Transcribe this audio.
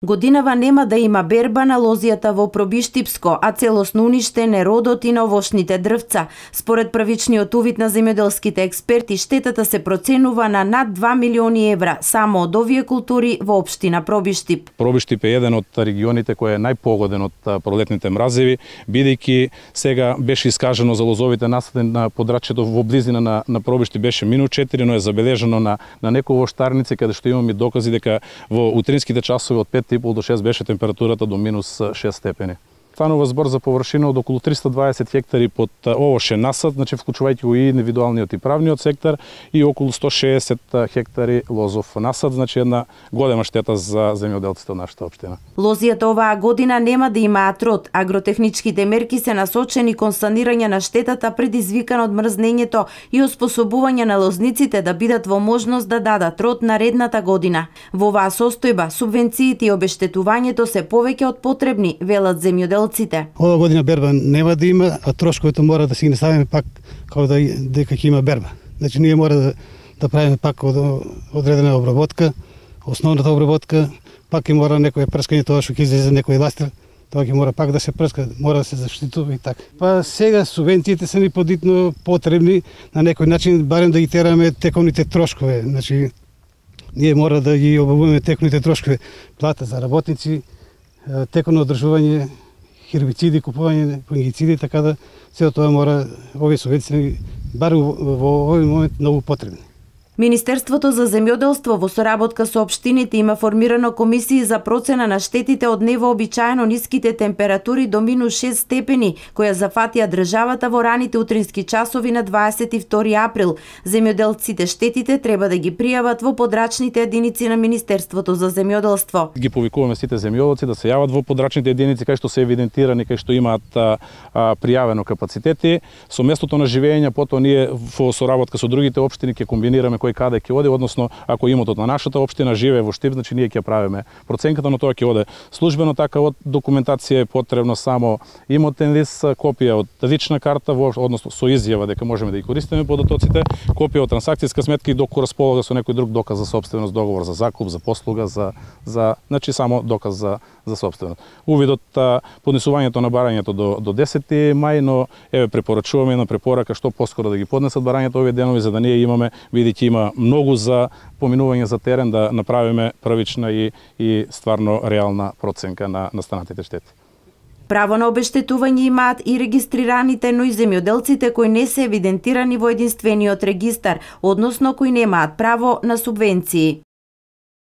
Годинава нема да има берба на лозијата во Пробиштипско, а целосно уништен е родот и на овошните дрвца. Според првичниот увид на земјоделските експерти, штетата се проценува на над 2 милиони евра само од овие култури во општина Пробиштип. Пробиштип е еден од регионите кој е најпогоден од пролетните мразеви, бидејќи сега беше искажано за лозовите насади на подрачјето во близина на Пробиштип беше -4, но е забележано на некои воштарници каде што имаме докази дека во утринските часови од 5,5 до 6 беше температурата до -6 степени. Станува збор за површина од околу 320 хектари под овошен насад, значи вклучувајќи го и индивидуалниот и правниот сектор, и околу 160 хектари лозов насад, значи една голема штета за земјоделците од нашата општина. Лозијата оваа година нема да имаат род. Агротехничките мерки се насочени кон санирање на штетата предизвикана од мрзнењето и оспособување на лозниците да бидат во можност да дадат род наредната година. Во оваа состојба субвенциите и обештетувањето се повеќе од потребни, велат земјоделците. Ова година берба нема да има, а трошковите мора да си ги наставиме пак како дека ќе има берба. Значи ние мора да правиме пак одредена обработка, основната обработка, пак ќе мора некој прскање тоа што ќе излезе некој ластер, тоа ќе мора пак да се прска, мора да се заштитува и така. Па сега субвенциите се ни подитно потребни на некој начин барем да ги тераме тековните трошкови. Значи ние мора да ги обавуваме тековните трошкови, плата за работници, тековно одржување, хербициди, купување фунгициди, така да сето тоа мора овие субвенции барем во овој момент многу потребни. Министерството за земјоделство во соработка со општините има формирано комисии за процена на штетите од невообичаено ниските температури до -6 степени, која зафатија државата во раните утрински часови на 22 април. Земјоделците штетите треба да ги пријават во подрачните единици на Министерството за земјоделство. Ги повикуваме сите земјоделци да се јават во подрачните единици кај што се евидентирани, кај што имаат пријавено капацитети. Со местото на живење, потоа ние во соработка со другите општини ќе комбинираме кој каде ќе оде, односно ако имотот на нашата општина живее во Штип, значи ние ќе правиме проценката, но тоа ќе оде службено, така од документација е потребно само имотен лист, копија од лична карта, односно со изјава дека можеме да ги користиме податоците, копија од трансакцијска сметка и доколку располага со некој друг доказ за сопственост, договор за закуп, за послуга, значи само доказ за сопственост. Увидот поднесувањето на барањето до 10 мај, но еве препорачуваме една препорака што поскоро да ги поднесат барањето овие денови, за да ние имаме, бидејќи има многу за поминување за терен, да направиме првична и стварно реална проценка на настанатите штети. Право на обештетување имаат и регистрираните, но и земјоделците кои не се евидентирани во единствениот регистар, односно кои немаат право на субвенции.